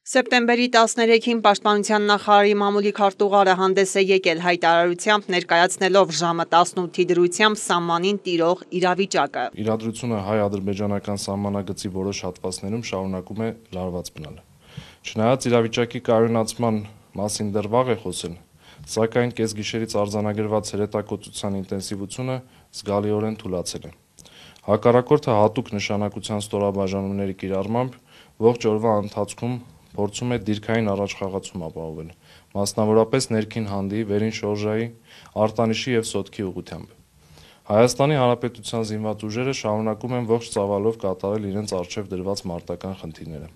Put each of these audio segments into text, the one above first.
Սեպտեմբերի 13-ին Պաշտպանության նախարարի մամուլի քարտուղարը հանդես է եկել հայտարարությամբ ներկայացնելով ժամը 18-ի դրությամբ սահմանին տիրող իրավիճակը։ Իրադրությունը հայ-ադրբեջանական սահմանագծի որոշ հատվածներում շարունակում է լարված մնալ։ Չնայած իրավիճակի կայունացման մասին դեռ վաղ է խոսել, սակայն կեսգիշերից արձանագրված հրետակոծության ինտենսիվությունը զգալիորեն թուլացել է։ Հակառակորդը հատուկ նշանակության ստորաբաժանումների կիրառմամբ ողջ օրվա ընթացքում փորձում է դիրքային առաջխաղացում ապահովել, մասնավորապես ներքին հանդի, վերին շորժայի, արտանիշի և սոտքի ուղղությամբ։ Հայաստանի Հանրապետության զինված ուժերը շարունակում են ողջ ծավալով կատարել իրենց առջև դրված մարտական խնդիրները։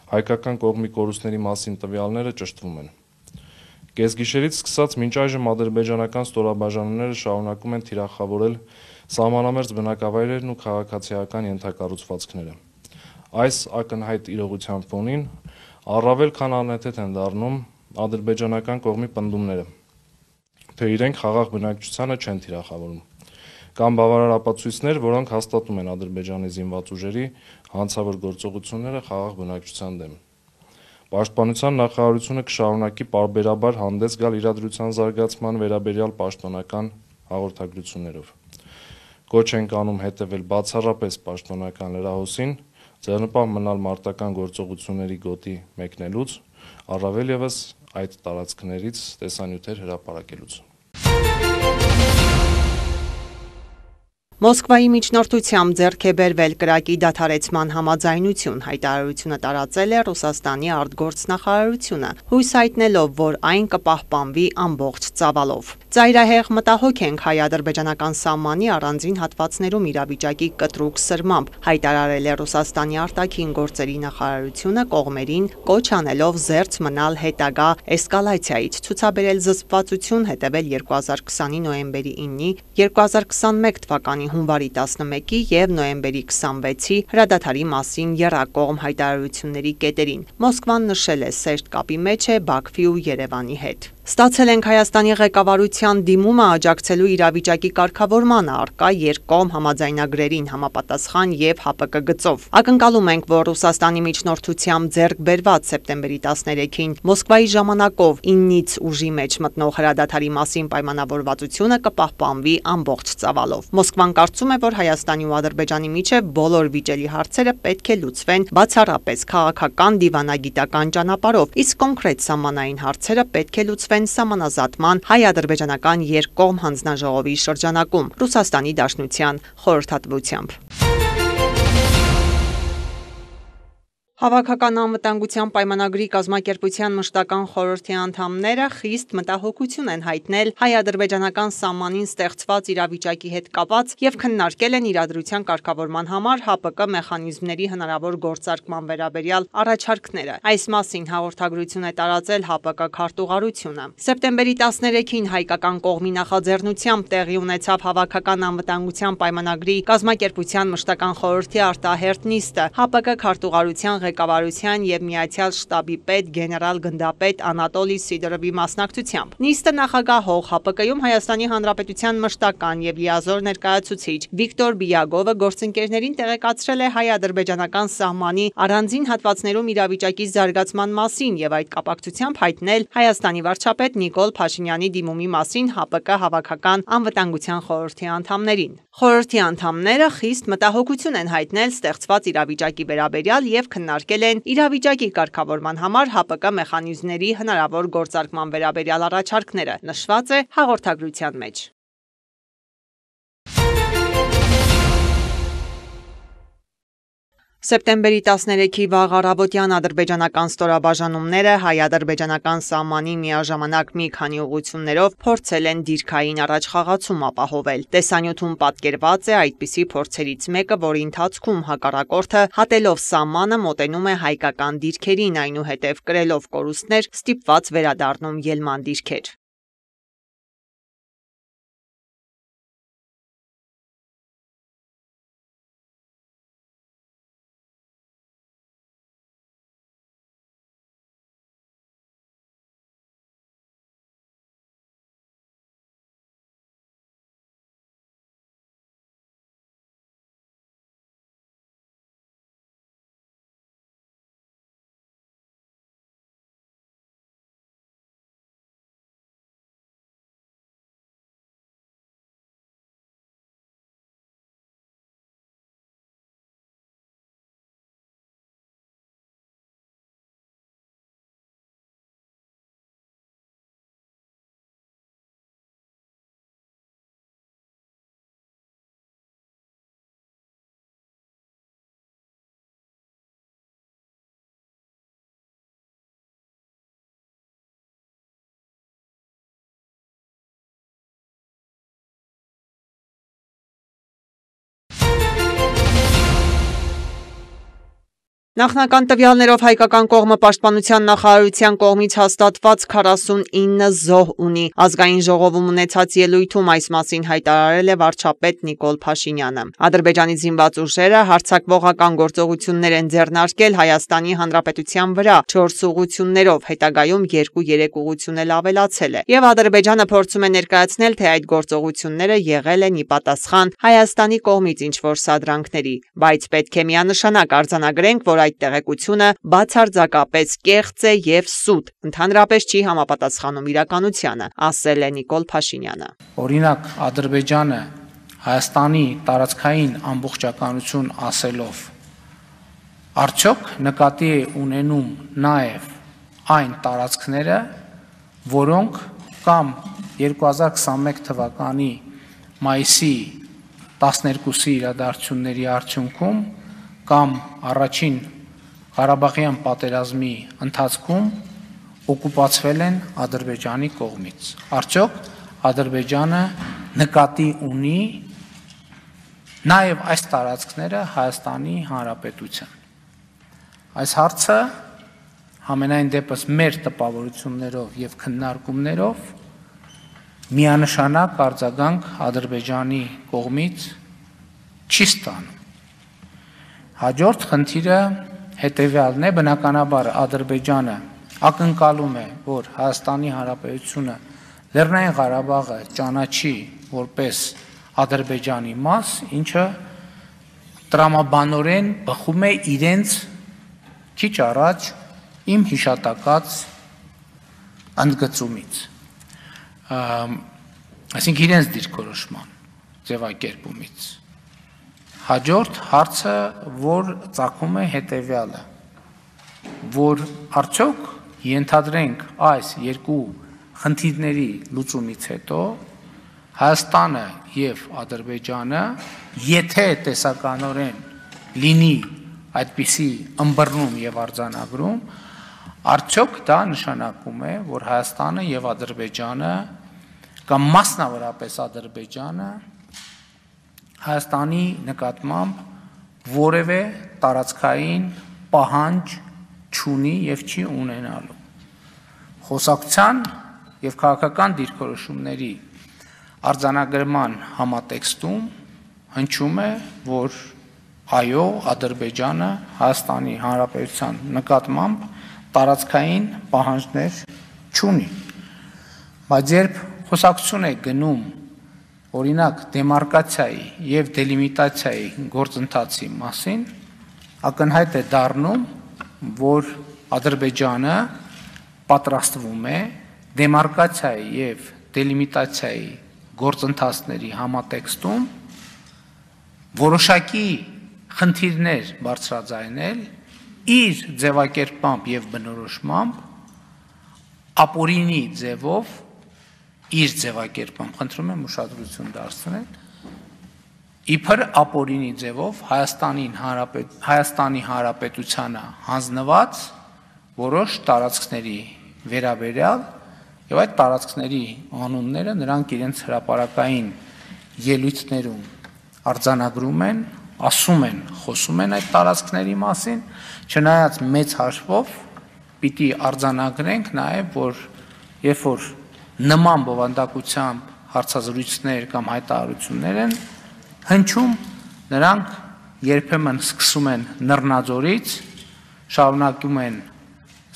Հայկական կողմի կորուստների մասին տվյալները ճշտվում են։ Կեսգիշերից սկսած մինչ այժմ ադրբեջանական ստորաբաժանումները շարունակում են թիրախավորել սահմանամերձ բնակավայրերն ու քաղաքացիական ենթակառուցվածքները։ Այս ակնհայտ իրողության ֆոնին առավել քան անհեթեթ են դառնում ադրբեջանական կողմի պնդումները, թե իրենք խաղաղ բնակչությանը չեն թիրախավորում։ Կան բավարար ապացույցներ, որոնք հաստատում են Ադրբեջանի զինված ուժերի հանցավոր գործողությունները խաղաղ բնակչության դեմ։ Պաշտպանության նախարարությունը կշարունակի պարբերաբար հանդես գալ իրադրության զարգացման վերաբերյալ պաշտոնական հաղորդագրություններով։ Կոչ ենք անում հետևել բացառապես պաշտոնական լրահոսին, ձեռնպահ մնալ մարտական գործողությունների գոտի մեկնելուց, առավել ևս այդ տարածքներից տեսանյութեր հրապարակելուց։ Մոսկվայի միջնորդությամբ ձեռք է բերվել կրակի դադարեցման համաձայնություն, հայտարարությունը տարածել է Ռուսաստանի արտգործնախարարությունը, հույս հայտնելով, որ այն կպահպանվի ամբողջ ծավալով։ Ծայրահեղ մտահոգ ենք հայ-ադրբեջանական սահմանի առանձին հատվածներում իրավիճակի կտրուկ սրմամբ, հայտարարել է Ռուսաստանի արտաքին գործերի նախարարությունը կողմերին կոչ անելով զերծ մնալ հետագա էսկալացիայից, ցուցաբերել զսպվածություն, հետևել 2020-ի նոյեմբերի 9-ի, 2021 թվականի հունվարի 11-ի և նոյեմբերի 26-ի հրադադարի մասին եռակողմ հայտարարությունների կետերին։ Մոսկվան նշել է սերտ կապի մեջ է Բաքվի ու Երևանի հետ։ Ստացել ենք Հայաստանի ղեկավարության դիմումը աջակցելու իրավիճակի կարգավորմանը առկա երկկողմ համաձայնագրերին համապատասխան և ՀԱՊԿ գծով։ Ակնկալում ենք, որ Ռուսաստանի միջնորդությամբ ձեռք բերված սեպտեմբերի 13-ին Մոսկվայի ժամանակով 9-ից ուժի մեջ մտնող հրադադարի մասին պայմանավորվածությունը կպահպանվի ամբողջ ծավալով։ Մոսկվան կարծում է, որ Հայաստանի ու Ադրբեջանի միջև բոլոր վիճելի հարցերը պետք է լուծվեն բացառապես քաղաքական դիվանագիտական ճանապարհով, իսկ կոնկրետ սահմանային հարցերը պետք է լուծվեն սահմանազատման հայ-ադրբեջանական երկկողմ հանձնաժողովի շրջանակում Ռուսաստանի Դաշնության խորհրդատվությամբ։ Հավաքական անվտանգության պայմանագրի կազմակերպության մշտական խորհրդի անդամները խիստ մտահոգություն են հայտնել հայ-ադրբեջանական սահմանին ստեղծված իրավիճակի հետ կապված և քննարկել են իրադրության կարգավորման համար ՀԱՊԿ մեխանիզմների հնարավոր գործարկման վերաբերյալ առաջարկները։ Այս մասին հաղորդագրություն է տարածել ՀԱՊԿ քարտուղարությունը։ Սեպտեմբերի 13-ին հայկական կողմի նախաձեռնությամբ տեղի ունեցավ Հավաքական անվտանգության պայմանագրի կազմակերպության մշտական խորհրդի արտահերթ նիստը։ ՀԱՊԿ քարտուղարության ղեկավարության և Միացյալ շտաբի պետ գեներալ-գնդապետ Անատոլի Սիդորովի մասնակցությամբ։ Նիստը նախագահող ՀԱՊԿ-ում Հայաստանի Հանրապետության մշտական և լիազոր ներկայացուցիչ Վիկտոր Բիագովը գործընկերներին տեղեկացրել է հայ-ադրբեջանական սահմանի առանձին հատվածներում իրավիճակի զարգացման մասին և այդ կապակցությամբ հայտնել Հայաստանի վարչապետ Նիկոլ Փաշինյանի դիմումի մասին ՀԱՊԿ Հավաքական անվտանգության խորհրդի անդամներին։ Խորհրդի անդամները խիստ մտահոգություն են հայտնել ստեղծված իրավիճակի վերաբերյալ և քննարկել են իրավիճակի կարգավորման համար ՀԱՊԿ մեխանիզմների հնարավոր գործարկման վերաբերյալ առաջարկները, նշված է հաղորդագրության մեջ։ Սեպտեմբերի 13-ի վաղ առավոտյան ադրբեջանական ստորաբաժանումները հայ-ադրբեջանական սահմանի միաժամանակ մի քանի ուղղություններով փորձել են դիրքային առաջխաղացում ապահովել։ Տեսանյութում պատկերված է այդպիսի փորձերից մեկը, որի ընթացքում հակառակորդը հատելով սահմանը մոտենում է հայկական դիրքերին, այնուհետև կրելով կորուստներ ստիպված վերադառնում ելման դիրքեր։ Նախնական տվյալներով հայկական կողմը պաշտպանության նախարարության կողմից հաստատված 49 զոհ ունի։ Ազգային ժողովում ունեցած ելույթում այս մասին հայտարարել է վարչապետ Նիկոլ Փաշինյանը։ Ադրբեջանի զինված ուժերը հարձակվողական գործողություններ են ձեռնարկել Հայաստանի Հանրապետության վրա 4 ուղղություններով, հետագայում 2-3 ուղղություն էլ ավելացել է։ Եվ Ադրբեջանը փորձում է ներկայացնել, թե այդ գործողությունները եղել են ի պատասխան Հայաստանի կողմից ինչ-որ սադրանքների, բայց պետք է միանշանակ արձանագրենք, որ այդ տեղեկությունը բացարձակապես կեղծ է եւ սուտ, ընդհանրապես չի համապատասխանում իրականությանը, ասել է Նիկոլ Փաշինյանը։ Օրինակ, Ադրբեջանը Հայաստանի տարածքային ամբողջականություն ասելով, արդյոք նկատի է ունենում նաեւ այն տարածքները, որոնք կամ 2021 թվականի մայիսի 12-ի իրադարձությունների արդյունքում կամ առաջին Ղարաբաղյան պատերազմի ընթացքում օկուպացվել են Ադրբեջանի կողմից։ Արդյոք Ադրբեջանը նկատի ունի նաև այս տարածքները Հայաստանի Հանրապետության։ Այս հարցը համենայն դեպս մեր տպավորություններով եւ քննարկումներով միանշանակ արձագանք Ադրբեջանի կողմից չի ստանում։ Հաջորդ խնդիրը հետևյալն է, բնականաբար Ադրբեջանը ակնկալում է, որ Հայաստանի Հանրապետությունը Լեռնային Ղարաբաղը ճանաչի որպես Ադրբեջանի մաս, ինչը տրամաբանորեն բխում է իրենց քիչ առաջ իմ հիշատակած ընդգծումից, այսինքն իրենց դիրքորոշման ձևակերպումից։ Հաջորդ հարցը, որ ծագում է հետևյալը, որ արդյոք ենթադրենք այս երկու խնդիրների լուծումից հետո Հայաստանը եւ Ադրբեջանը, եթե տեսականորեն լինի այդպիսի ըմբռնում եւ արձանագրում, արդյոք դա նշանակում է, որ Հայաստանը եւ Ադրբեջանը կամ մասնավորապես Ադրբեջանը Հայաստանի նկատմամբ որևէ տարածքային պահանջ չունի եւ չի ունենալու։ Խոսակցության եւ քաղաքական դիրքորոշումների արձանագրման համատեքստում հնչում է, որ այո, Ադրբեջանը Հայաստանի Հանրապետության նկատմամբ տարածքային պահանջներ չունի։ Բայց երբ խոսակցություն է գնում օրինակ դեմարկացիայի եւ դելիմիտացիայի գործընթացի մասին, ակնհայտ է դառնում, որ Ադրբեջանը պատրաստվում է դեմարկացիայի եւ դելիմիտացիայի գործընթացների համատեքստում որոշակի խնդիրներ բարձրաձայնել իր ձևակերպմամբ եւ բնորոշմամբ ապօրինի ձևով իր ձևակերպում, խնդրում եմ ուշադրություն դարձնել, իբր ապօրինի ձևով Հայաստանի Հանրապետությանը հանձնված որոշ տարածքների վերաբերյալ եւ այդ տարածքների անունները նրանք իրենց հրապարակային ելույթներում արձանագրում են, ասում են, խոսում են այդ տարածքների մասին, չնայած մեծ հաշվով պիտի արձանագրենք նաեւ, որ երբ որ նման բովանդակությամբ հարցազրույցներ կամ հայտարարություններ են հնչում, նրանք երբեմն սկսում են Նռնաձորից, շարունակում են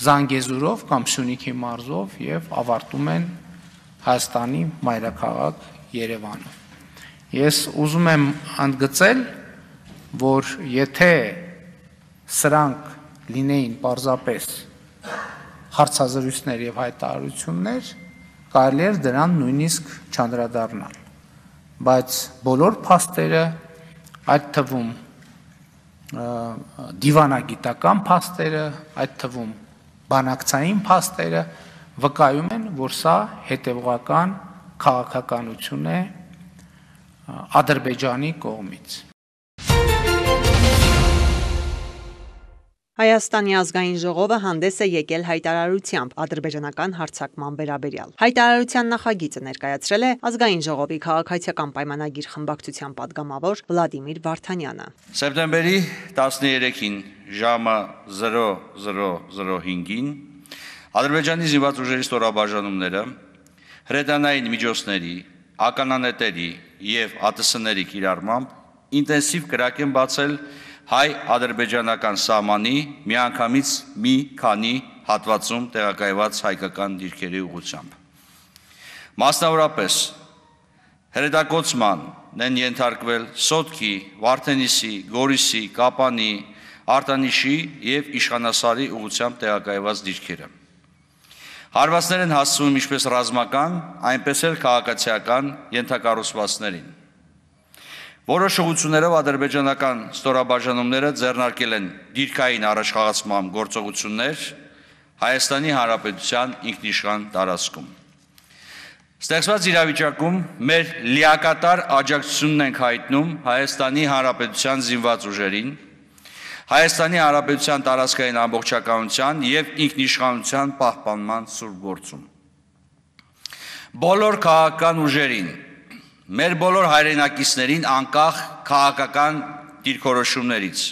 Զանգեզուրով կամ Սյունիքի մարզով եւ ավարտում են Հայաստանի մայրաքաղաք Երևանով։ Ես ուզում եմ ընդգծել, որ եթե սրանք լինեին պարզապես հարցազրույցներ եւ հայտարարություններ, կարելի էր դրան նույնիսկ չանդրադառնալ, բայց բոլոր փաստերը, այդ թվում դիվանագիտական փաստերը, այդ թվում բանակցային փաստերը վկայում են, որ սա հետևողական քաղաքականություն է Ադրբեջանի կողմից։ Հայաստանի ազգային ժողովը հանդես է եկել հայտարարությամբ ադրբեջանական հարձակման վերաբերյալ։ Հայտարարության նախագիծը ներկայացրել է ազգային ժողովի քաղաքացիական պայմանագիր խմբակցության падգամավոր Վլադիմիր Վարդանյանը։ Սեպտեմբերի 13-ին ժամը 00:05-ին Ադրբեջանի զինված ուժերի ստորաբաժանումները հրետանային միջոցների, ականանետերի և ԱՏՍ-ների կիրառմամբ ինտենսիվ կրակ են բացել հայ-ադրբեջանական սահմանի միանգամից մի քանի հատվածում տեղակայված հայկական դիրքերի ուղղությամբ։ Մասնավորապես հրետակոծման են ենթարկվել Սոտքի, Վարդենիսի, Գորիսի, Կապանի, Արտանիշի և Իշխանասարի ուղղությամբ տեղակայված դիրքերը։ Հարվածներ են հասցվում ինչպես ռազմական, այնպես էլ քաղաքացիական ենթակառուցվածքներին։ Որոշ ուղղություններով ադրբեջանական ստորաբաժանումները ձեռնարկել են դիրքային առաջխաղացման գործողություններ Հայաստանի Հանրապետության ինքնիշխան տարածքում։ Ստեղծված իրավիճակում մեր լիակատար աջակցությունն ենք հայտնում Հայաստանի Հանրապետության զինված ուժերին, Հայաստանի Հանրապետության տարածքային ամբողջականության և ինքնիշխանության պահպանման սուրբ գործում։ Բոլոր քաղաքական ուժերին, մեր բոլոր հայրենակիցներին անկախ քաղաքական դիրքորոշումներից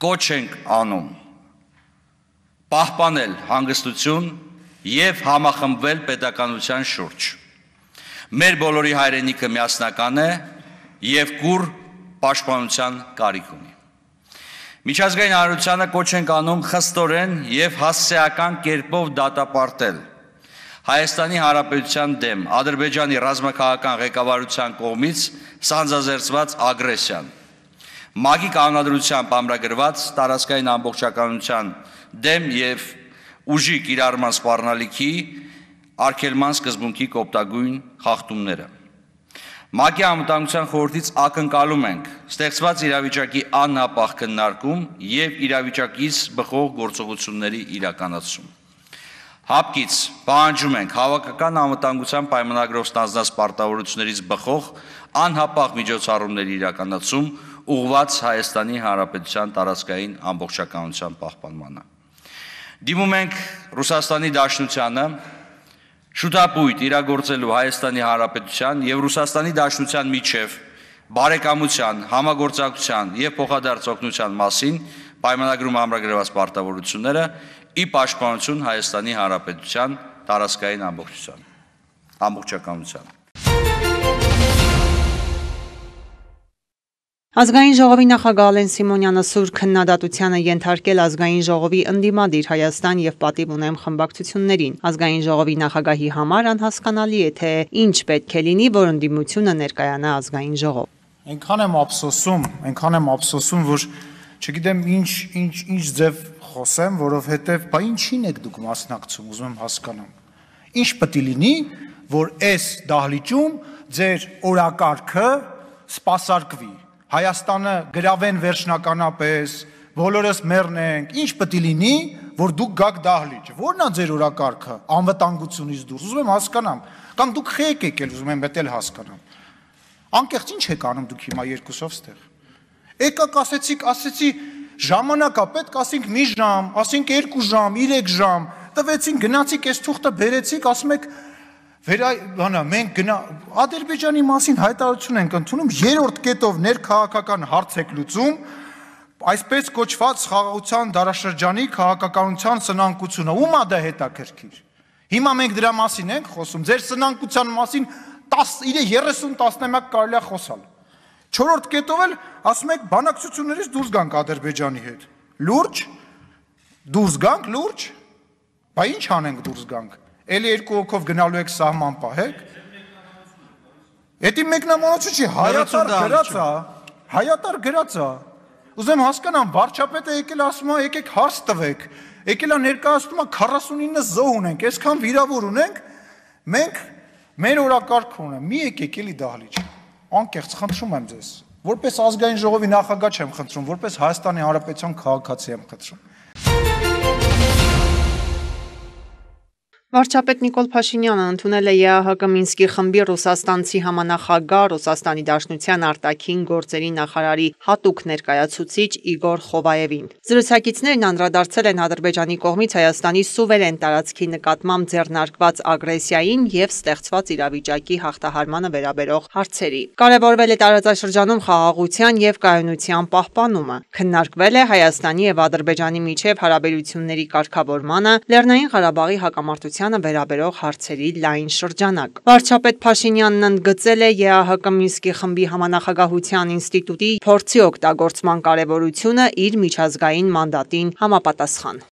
կոչ ենք անում պահպանել հանգստություն և համախմբվել պետականության շուրջ։ Մեր բոլորի հայրենիքը միասնական է և կուռ պաշտպանության կարիք ունի։ Միջազգային հանրությանը կոչ ենք անում խստորեն և հասցեական կերպով դատապարտել Հայաստանի Հանրապետության դեմ Ադրբեջանի ռազմաքաղաքական ղեկավարության կողմից սանձազերծված ագրեսիան, ՄԱԿ-ի կանոնադրությամբ ամրագրված տարածքային ամբողջականության դեմ և ուժի կիրառման սպառնալիքի արգելման սկզբունքի կոպտագույն խախտումները։ ՄԱԿ-ի Անվտանգության խորհրդից ակնկալում ենք ստեղծված իրավիճակի անհապաղ քննարկում և իրավիճակից բխող գործողությունների իրականացում։ Հապկից պահանջում ենք հավաքական անվտանգության պայմանագրով ստանձնած պարտավորություններից բխող անհապաղ միջոցառումների իրականացում ուղղված Հայաստանի Հանրապետության տարածքային ամբողջականության պահպանմանը։ Դիմում ենք Ռուսաստանի Դաշնությանը շուտապույտ իրագործելու Հայաստանի Հանրապետության և Ռուսաստանի Դաշնության միջև բարեկամության, համագործակցության և փոխադարձ օգնության մասին պայմանագրում ամրագրված պարտավորությունները ի պաշտպանություն Հայաստանի Հանրապետության տարածքային ամբողջականության։ Ազգային ժողովի նախագահ Ալեն Սիմոնյանը սուր քննադատությանը ենթարկել ազգային ժողովի ընդդիմադիր Հայաստան և պատիվ ունեմ խմբակցություններին։ Ազգային ժողովի նախագահի համար անհասկանալի է, թե ինչ պետք է լինի, որ ընդդիմությունը ներկայանա ազգային ժողով։ Այնքան եմ ափսոսում, որ չգիտեմ ինչ ձև խոսեմ, որովհետև բա ինչին եք դուք մասնակցում, ուզում եմ հասկանամ։ Ինչ պետք է լինի, որ այս դահլիճում ձեր օրակարգը սպասարկվի, Հայաստանը գրավեն վերջնականապես, բոլորս մեռնենք, ինչ պետք է լինի, որ դուք գաք դահլիճ։ Որն է ձեր օրակարգը անվտանգությունից դուրս, ուզում եմ հասկանամ, կամ դուք խեք եկել, ուզում եմ դա հասկանամ։ Անկեղծ ինչ եք անում դուք հիմա երկուսով ստեղ։ Եկաք ասեցի ժամանակա պետք ասենք մի ժամ, ասենք 2 ժամ, 3 ժամ, տվեցին գնացիք այս թուղթը բերեցիք, ասում եք մենք Ադրբեջանի մասին հայտարարություն ենք ընդունում, երրորդ կետով ներքաղաքական հարց եք լուծում, այսպես կոչված խաղաղության դարաշրջանի քաղաքականության սնանկությունը, ում է դա հետաքրքիր։ Հիմա մենք դրա մասին ենք խոսում, ձեր սնանկության մասին 30 տասնամյակ կարելի է խոսալ։ Չորրորդ կետով էլ ասում եք բանակցություններից դուրս գանք Ադրբեջանի հետ։ Լուրջ, դուրս գանք, լուրջ, բա ինչ անենք դուրս գանք։ Էլի 2 հոգով գնալու եք սահման պահեք։ Էդի մեկնաբանություն չի, հայատար գրած է։ Ուզեմ հասկանամ, վարչապետը եկել ասում է, եկեք հարց տվեք։ Եկել է ներկայացնում է 49 զոհ ունենք, այսքան վիրավոր ունենք, մենք մեր օրակարգ ունենք, մի եկեք էլի դահլիճ։ Անկեղծ խնդրում եմ ձեզ, որպես ազգային ժողովի նախագահ չեմ խնդրում, որպես Հայաստանի Հանրապետության քաղաքացի եմ խնդրում։ Վարչապետ Նիկոլ Փաշինյանը ընդունել է ԵԱՀԿ Մինսկի խմբի ռուսաստանցի համանախագահ, Ռուսաստանի Դաշնության արտաքին գործերի նախարարի հատուկ ներկայացուցիչ Իգոր Խովայևին։ Զրուցակիցներն անդրադարձել են Ադրբեջանի կողմից Հայաստանի սուվերեն տարածքի նկատմամբ ձեռնարկված ագրեսիային և ստեղծված իրավիճակի հաղթահարմանը վերաբերող հարցերի։ Կարևորվել է տարածաշրջանում խաղաղության և կայունության պահպանումը։ Քննարկվել է Հայաստանի և Ադրբեջանի միջև հարաբերությունների կարգավորմանը, Լեռնային Ղարաբաղի հակամարտության վերաբերող հարցերի լայն շրջանակ։ Վարչապետ Փաշինյանն ընդգծել է ԵԱՀԿ Մինսկի խմբի համանախագահության ինստիտուտի փորձի օգտագործման կարևորությունը իր միջազգային մանդատին համապատասխան։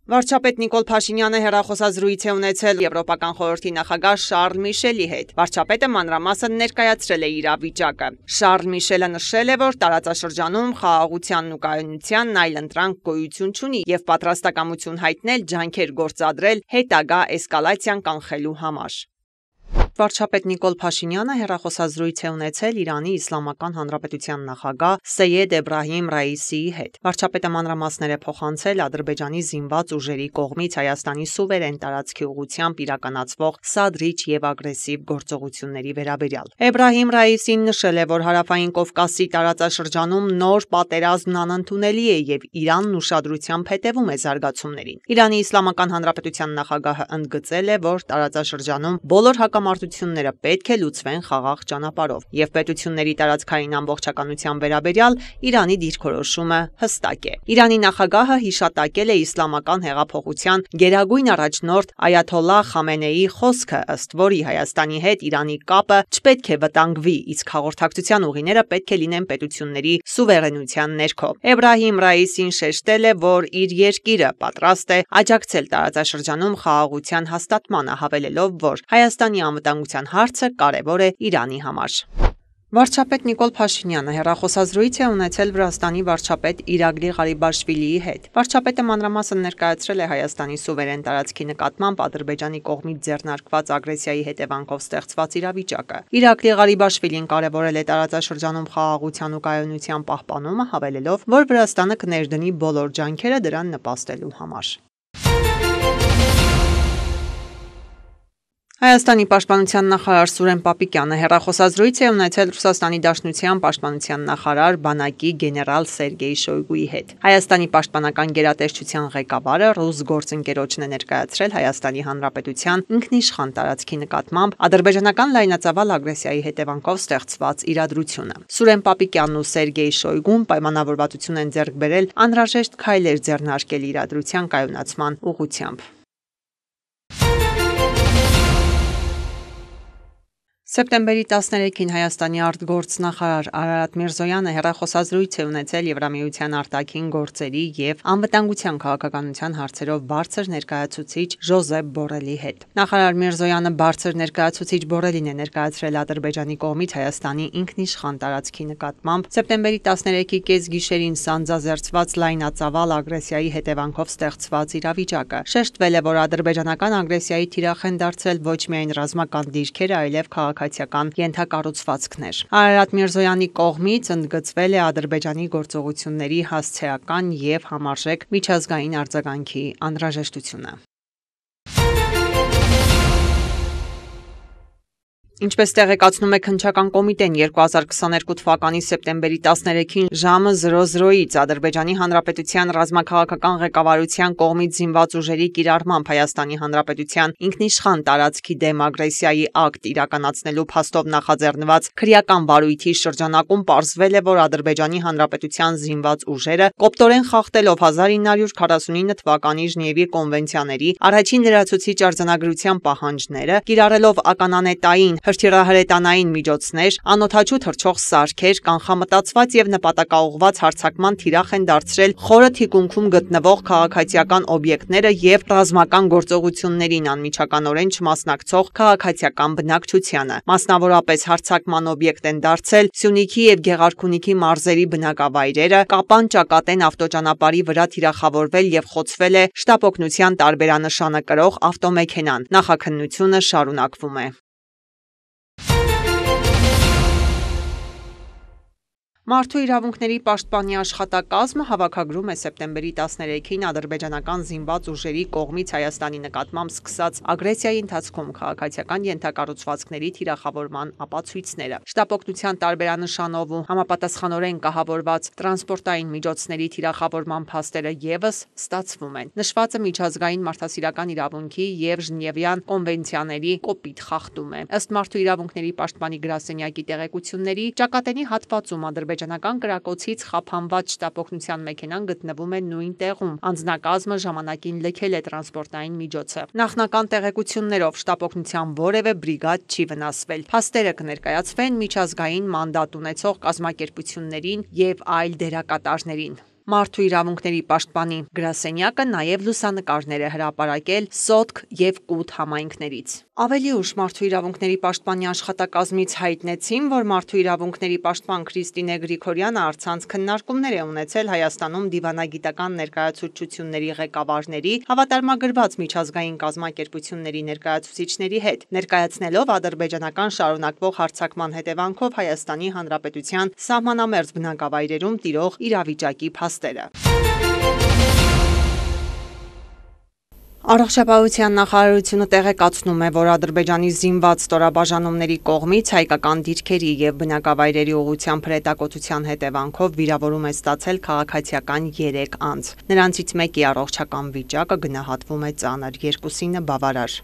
Վարչապետ Նիկոլ Փաշինյանը հեռախոսազրույց է ունեցել Եվրոպական խորհրդի նախագահ Շարլ Միշելի հետ։ Վարչապետը մանրամասն ներկայացրել է իրավիճակը։ Շարլ Միշելը նշել է, որ տարածաշրջանում խաղաղությանն ու կայունությանն այլընտրանք գոյություն չունի և պատրաստակամություն հայտնել ջանքեր գործադրել հետագա էսկալացիան կանխելու համար։ Վարչապետ Նիկոլ Փաշինյանը հեռախոսազրույց է ունեցել Իրանի Իսլամական Հանրապետության նախագահ Սեյեդ Էբրահիմ Ռայիսիի հետ։ Վարչապետը մանրամասներ է փոխանցել Ադրբեջանի զինված ուժերի կողմից Հայաստանի սուվերեն տարածքի ուղղությամբ իրականացվող սադրիչ և ագրեսիվ գործողությունների վերաբերյալ։ Էբրահիմ Ռայիսին նշել է, որ Հարավային Կովկասի տարածաշրջանում նոր պատերազմն անընդունելի է և Իրանն ուշադրությամբ հետևում է զարգացումներին։ Իրանի Իսլամական Հանրապետության նախագահը ընդգծել է, որ տարածաշրջանում բոլոր հակամարտությունները պետք է լուծվեն խաղաղ ճանապարհով և պետությունների տարածքային ամբողջականության վերաբերյալ Իրանի դիրքորոշումը հստակ է։ Իրանի նախագահը հիշատակել է իսլամական հեղափոխության գերագույն առաջնորդ Այաթոլլահ Խամենեիի խոսքը, ըստ որի Հայաստանի հետ Իրանի կապը չպետք է վտանգվի, իսկ հաղորդակցության ուղիները պետք է լինեն պետությունների սուվերենության ներքո։ Էբրահիմ Ռայիսին շեշտել է, որ իր երկիրը պատրաստ է աջակցել տարածաշրջանում խաղաղության հաստատմանը, հավելելով, որ Հայաստանի անվտանգության հարցը կարևոր է Իրանի համար։ Վարչապետ Նիկոլ Փաշինյանը հեռախոսազրույց է ունեցել Վրաստանի վարչապետ Իրագլի Ղարիբաշվիլիի հետ։ Վարչապետը մանրամասն ներկայացրել է Հայաստանի սուվերեն տարածքի նկատմամբ Ադրբեջանի կողմից ձեռնարկված ագրեսիայի հետևանքով ստեղծված իրավիճակը։ Իրագլի Ղարիբաշվիլին կարևորել է տարածաշրջանում խաղաղության ու կայունության պահպանումը, հավելելով, որ Վրաստանը կներդնի բոլոր ջանքերը դրան նպաստելու համար։ Հայաստանի պաշտպանության նախարար Սուրեն Պապիկյանը հեռախոսազրույց է ունեցել Ռուսաստանի Դաշնության պաշտպանության նախարար բանակի գեներալ Սերգեյ Շոյգուի հետ։ Հայաստանի պաշտպանական գերատեսչության ղեկավարը ռուս գործընկերոջն է ներկայացրել Հայաստանի Հանրապետության ինքնիշխան տարածքի նկատմամբ ադրբեջանական լայնածավալ ագրեսիայի հետևանքով ստեղծված իրադրությունը։ Սուրեն Պապիկյանն ու Սերգեյ Շոյգուն պայմանավորվածություն են ձեռք բերել անհրաժեշտ քայլեր ձեռնարկել իրադրության կայունացման ուղղությամբ։ Սեպտեմբերի 13-ին Հայաստանի արտգործնախարար Արարատ Միրզոյանը հեռախոսազրույց է ունեցել Եվրամիության արտաքին գործերի և անվտանգության քաղաքականության հարցերով բարձր ներկայացուցիչ Ժոզեփ Բորելի հետ։ Նախարար Միրզոյանը բարձր ներկայացուցիչ Բորելին է ներկայացրել Ադրբեջանի կողմից Հայաստանի ինքնիշխան տարածքի նկատմամբ սեպտեմբերի 13-ի կեսգիշերին սանձազերծված լայնածավալ ագրեսիայի հետևանքով ստեղծված իրավիճակը։ Շեշտվել է, որ ադրբեջանական ագրեսիայի թիրախ են դարձել ոչ միայն ռազմական դիրքերը, այլև քաղաքացիական ենթակառուցվածքներ։ Արարատ Միրզոյանի կողմից ընդգծվել է Ադրբեջանի գործողությունների հասցեական և համարժեք միջազգային արձագանքի անհրաժեշտությունը։ Ինչպես տեղեկացնում է Քննչական կոմիտեն, 2022 թվականի սեպտեմբերի 13-ին ժամը 00-ից Ադրբեջանի Հանրապետության ռազմաքաղաքական ղեկավարության կողմից զինված ուժերի կիրառմամբ Հայաստանի Հանրապետության ինքնիշխան տարածքի դեմ ագրեսիայի ակտ իրականացնելու փաստով նախաձեռնված քրեական վարույթի շրջանակում պարզվել է, որ Ադրբեջանի Հանրապետության զինված ուժերը կոպտորեն խախտելով 1949 թվականի Ժնևի կոնվենցիաների առաջին լրացուցիչ արձանագրության պահանջները, կիրառելով ականանետային հրթիռահրետանային միջոցներ, անօդաչու թռչող սարքեր, կանխամտածված և նպատակաուղղված հարձակման թիրախ են դարձրել խորը թիկունքում գտնվող քաղաքացիական օբյեկտները և ռազմական գործողություններին անմիջականորեն չմասնակցող քաղաքացիական բնակչությանը։ Մասնավորապես հարձակման օբյեկտ են դարձել Սյունիքի և Գեղարքունիքի մարզերի բնակավայրերը, Կապան-Ճակատեն ավտոճանապարհի վրա թիրախավորվել և խոցվել է շտապօգնության տարբերանշանը կրող ավտոմեքենան։ Նախաքննությունը շարունակվում է։ Մարդու իրավունքների պաշտպանի աշխատակազմը հավաքագրում է սեպտեմբերի 13-ին ադրբեջանական զինված ուժերի կողմից Հայաստանի նկատմամբ սկսած ագրեսիայի ընթացքում քաղաքացիական ենթակառուցվածքների թիրախավորման ապացույցները։ Շտապօգնության տարբերանշանով ու համապատասխանորեն կահավորված տրանսպորտային միջոցների թիրախավորման փաստերը ևս ստացվում են։ Նշվածը միջազգային մարդասիրական իրավունքի եւ Ժնևյան կոնվենցիաների կոպիտ խախտում է։ Ըստ Մարդու իրավունքների պաշտպանի գրասենյակի տեղեկությունների, Ճակատենի հատվածում ադրբեջանական կրակոցից խափանված շտապօգնության մեքենան գտնվում է նույն տեղում։ Անձնակազմը ժամանակին լքել է տրանսպորտային միջոցը։ Նախնական տեղեկություններով շտապօգնության որևէ բրիգադ չի վնասվել։ Փաստերը կներկայացվեն միջազգային մանդատ ունեցող կազմակերպություններին եւ այլ դերակատարներին։ Մարդու իրավունքների պաշտպանի գրասենյակը նաև լուսանկարներ է հրապարակել Սոտք եւ Կութ համայնքներից։ Ավելի ուշ Մարդու իրավունքների պաշտպանի աշխատակազմից հայտնեցին, որ Մարդու իրավունքների պաշտպան Քրիստինե Գրիգորյանը առցանց քննարկումներ է ունեցել Հայաստանում դիվանագիտական ներկայացուցչությունների ղեկավարների, հավատարմագրված միջազգային կազմակերպությունների ներկայացուցիչների հետ, ներկայացնելով ադրբեջանական շարունակվող հարձակման հետևանքով Հայաստանի Հանրապետության սահմանամերձ բնակավայրերում տիրող իրավիճակի փաստերը։ Առողջապահության նախարարությունը տեղեկացնում է, որ Ադրբեջանի զինված ստորաբաժանումների կողմից հայկական դիրքերի եւ բնակավայրերի ուղղությամբ հրետակոծության հետևանքով վիրավորում է ստացել քաղաքացիական 3 անձ։ Նրանցից մեկի առողջական վիճակը գնահատվում է ծանր, 2-ը բավարար։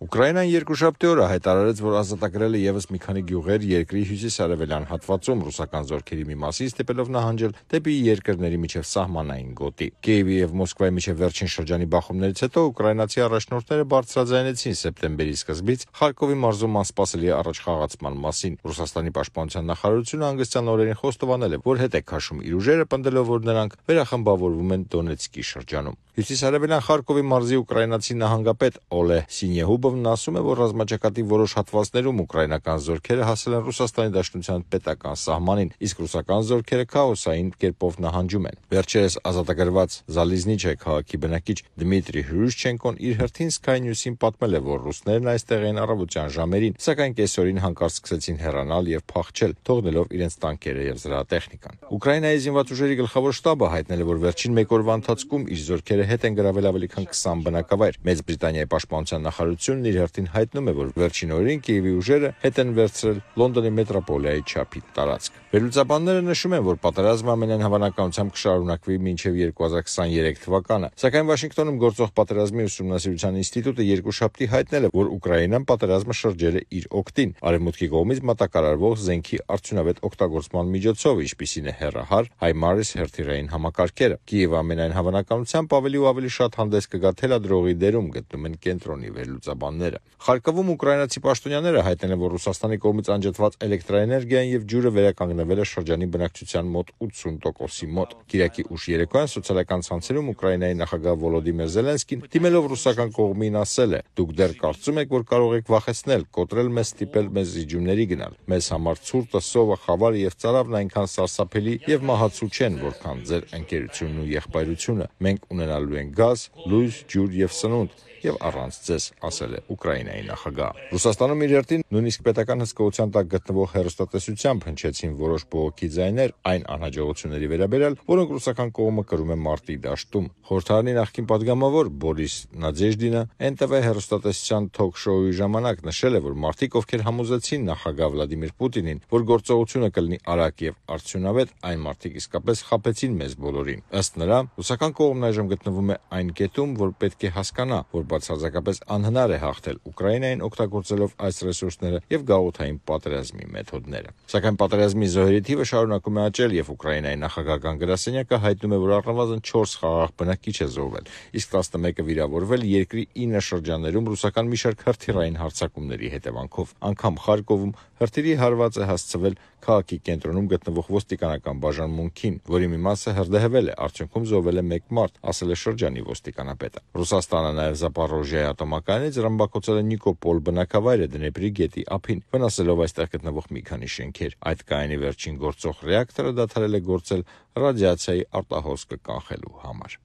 Ուկրաինան երկուշաբթի օրը հայտարարեց, որ ազատագրել է ևս մի քանի գյուղեր երկրի հյուսիս-արևելյան հատվածում ռուսական զորքերի մի մասի ստիպելով նահանջել դեպի երկրների միջև սահմանային գոտի։ Կիևի եւ Մոսկվայի միջև վերջին շրջանի բախումներից հետո ուկրաինացի առաջնորդները բարձրաձայնեցին սեպտեմբերի սկզբից Խարկովի մարզում անսպասելի առաջխաղացման մասին։ Ռուսաստանի պաշտպանության նախարարությունը հանգստյան օրերին խոստովանել է, որ հետ է քաշում իր ուժերը, պնդելով, որ նրանք վերախմբավորվում են Դոնեցկի շրջանում։ Հյուսիսարևելյան Խարկովի մարզի ուկրաինացի նահանգապետ Օլեհ Սինեհուբովն ասում է, որ ռազմաճակատի որոշ հատվածներում ուկրաինական զորքերը հասել են Ռուսաստանի Դաշնության պետական սահմանին, իսկ ռուսական զորքերը քաոսային կերպով նահանջում են։ Վերջերս ազատագրված Զալիզնիչե քաղաքի բնակիչ Դմիտրի Հրուշչենկոն իր հերթին Sky News-ին պատմել է, որ ռուսներն այստեղ էին առավոտյան ժամերին, սակայն կեսօրին հանկարծ սկսեցին հեռանալ եւ փախչել, թողնելով իրենց տանկերը եւ զրահատեխնիկան։ Ուկրաինայի զինված ուժերի գլխավոր շտաբը հայտնել է, որ վերջին մեկ օրվա ընթացքում իր զորքերը հետ են գրավել ավելի քան 20 բնակավայր։ Մեծ Բրիտանիայի պաշտպանության նախարարությունն իր հերթին հայտնում է, որ վերջին օրերին Կիևի ուժերը հետ են վերցրել Լոնդոնի մետրոպոլիայի չափի տարածք։ Վերլուծաբանները նշում են, որ պատերազմը ամենայն հավանականությամբ կշարունակվի մինչև 2023 թվականը, սակայն Վաշինգտոնում գործող պատերազմի ուսումնասիրության ինստիտուտը երկուշաբթի հայտնել է, որ Ուկրաինան պատերազմը շրջել է իր օգտին արևմուտքի կողմից մատակարարվող զենքի արդյունավետ օգտագործման միջոցով, ինչպիսին է հեռահար HIMARS հերթիրային համակարգերը։ Կիևը ամենայն հավանականությամբ ավելի ու ավելի շատ հանդես կգա թելադրողի դերում, գտնում են կենտրոնի վերլուծաբանները։ Խարկովում ուկրաինացի պաշտոնյաները հայտնել են, որ Ռուսաստանի կողմից անջատված էլեկտրաէներգիան եւ ջուրը վերականգնվել է շրջանի բնակչության մոտ 80%-ի մոտ։ Կիրակի ուշ երեկոյան սոցիալական ցանցերում Ուկրաինայի նախագահ Վոլոդիմիր Զելենսկին դիմելով ռուսական կողմին ասել է. «Դուք դեռ կարծում եք, որ կարող եք վախեցնել, կոտրել մեզ, ստիպել մեզ զիջումների գնալ։ Մեզ համար ցուրտը, սովը, խավարը եւ ծարավն այնքան սարսափելի եւ մահացու չեն, որքան ձեր ընկերությունն ու եղբայրությունը։ Մենք ունենալու ենք գազ, լույս, ջուր եւ սնունդ եւ առանց ձեզ», ասել է Ուկրաինայի նախագահը։ Ռուսաստանում իր հերթին նույնիսկ պետական հսկողության տակ գտնվող հեռուստատեսությամբ հնչեցին որոշ բողոքի ձայներ այն անհաջողությունների վերաբերյալ, որոնք ռուսական կողմը կրում է մարտի դաշտում։ Խորհրդարանի նախկին падգամավոր Բորիս Նադեժդինը NTV հեռուստատեսության թոք-շոուի ժամանակ նշել է, որ մարդիկ, ովքեր համոզեցին նախագահ Վլադիմիր Պուտինին, որ գործողությունը կլինի արագ եւ արդյունավետ, այն մարդիկ իսկապես խաբեցին մեզ բոլորին։ Ըստ նրա, ռուսական կողմն այժմ գտնվում է այն կետում, որ պետք է հասկանա, որ բացարձակապես անհնար է հաղթել Ուկրաինային օգտագործելով այս ռեսուրսները եւ գաղութային պատերազմի մեթոդները։ Սակայն պատերազմի զոհերի թիվը շարունակում է աճել եւ Ուկրաինայի նախագահական գրասենյակը հայտնում է, որ առնվազն 4 խաղաղ բնակիչ է զոհվել, իսկ 11-ը վիրավորվել երկրի 9 շրջաններում ռուսական մի շարք հրթիռային հարձակումների հետևանքով։ Անգամ Խարկովում հրթիռի հարված է հասցվել քաղաքի կենտրոնում գտնվող ոստիկանական բաժանմունքին, որի մի մասը հրդեհվել է, արդյունքում զոհվել է 1 մարդ, ասել է շրջանի ոստիկանապետը։ Ռուսաստանը նաև Զապորոժիայի ատոմակայանից ռմբակոծել է Նիկոպոլ բնակավայրը Դնեպրի գետի ափին, վնասելով այստեղ գտնվող մի քանի շենքեր։ Այդ կայանի վերջին գործող ռեակտորը դադարել է գործել ռադիացիայի արտահոսքը կանխելու համար։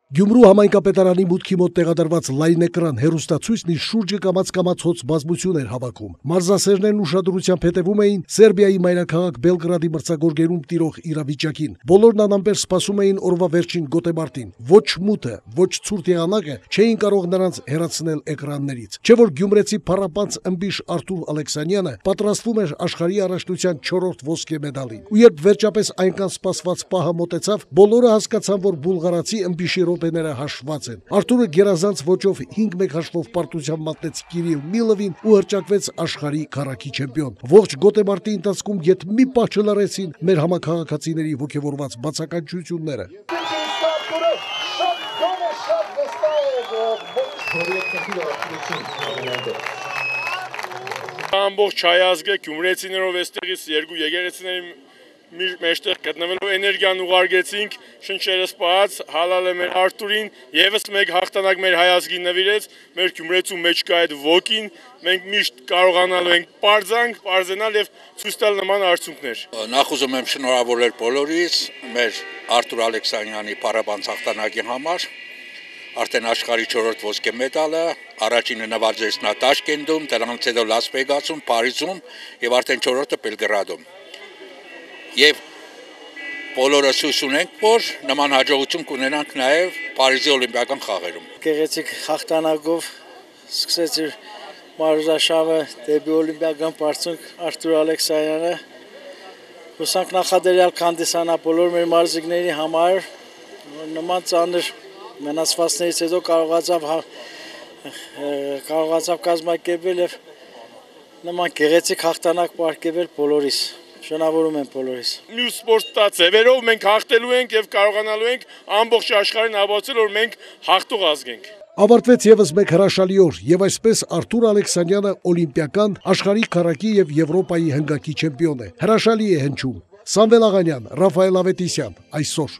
Գյումրու համայնքապետարանի մուտքի մոտ տեղադրված լայնէկրան հեռուստացույցն իր շուրջը կամաց հոց բազմություն էր հավաքում։ Մարզասերներն ուշադրությամբ հետևում էին Սերբիայի մայրաքաղաք Բելգրադի մրցակցորգերում տիրող իրավիճակին։ Բոլորն անամպեր սպասում էին օրվա վերջին գոտեմարտին։ Ոչ մութը, ոչ ցուրտ եղանակը չէին կարող նրանց հեռացնել էկրաններից։ Չէ որ գյումրեցի փառապանց ըմբիշ Արթուր Ալեքսանյանը պատրաստվում էր աշխարհի առաջնության 4-րդ ոսկե մեդալին։ Ու երբ վերջապես այնքան սպասված պահը մոտեցավ, բոլորը հասկացան, որ բուլղարացի ըմբիշի րոպեները հաշված են։ Արթուրը գերազանց ոճով 5-1 հաշվով պարտության մատնեց Կիրիլ Միլովին ու հրճակվեց աշխարհի քառակի չեմպիոն։ Ողջ գոտեմարտի ընթացքում ետ մի պահ չլարեցին մեր համակարգացիների ողջավորված բացականչությունները։ Ամբողջ հայազգը գյումրեցիներով էստեղից երկու եկեղեցիների մեջտեղ գտնվելով էներգիան ուղարկեցինք, շնչերը սպահած, հալալ է մեր Արթուրին, եւս մեկ հաղթանակ մեր հայազգին նվիրեց, մեր գյումրեցու մեջ կա այդ ոգին, մենք միշտ կարողանալու ենք պարզենալ եւ ցույց տալ նման արդյունքներ։ Նախ ուզում եմ շնորհավորել բոլորիս մեր Արթուր Ալեքսանյանի փառաբանց հաղթանակի համար։ Արդեն աշխարհի 4-րդ ոսկե մեդալը, առաջինը նվաճեց նա Տաշկենտում, դրանից հետո Լաս Վեգասում, Փարիզում եւ արդեն 4-րդը Բելգրադում։ Եվ բոլորս հույս ունենք, որ նման հաջողություն կունենանք նաեւ Փարիզի օլիմպիական խաղերում։ Գեղեցիկ հաղթանակով սկսեց իր մարզաշավը դեպի օլիմպիական բարձունք Արթուր Ալեքսանյանը։ Հուսանք նախադերյալ կհանդիսանա բոլոր մեր մարզիկների համար, նման ծանր մնացվածներից հետո կարողացավ կազմակերպել եւ նման գեղեցիկ հաղթանակ պարգևել բոլորիս։ Շնորհավորում եմ բոլորիս։ Մյուս սպորտաձևերով մենք հաղթելու ենք եւ կարողանալու ենք ամբողջ աշխարհին ապացուցել, որ մենք հաղթող ազգ ենք։ Ավարտվեց եւս մեկ հրաշալի օր, եւ այսպես Արթուր Ալեքսանյանը օլիմպիական, աշխարհի քառակի եւ Եվրոպայի հնգակի չեմպիոն է։ Հրաշալի է հնչում։ Սամվել Աղանյան, Ռաֆայել Ավետիսյան, այսօր։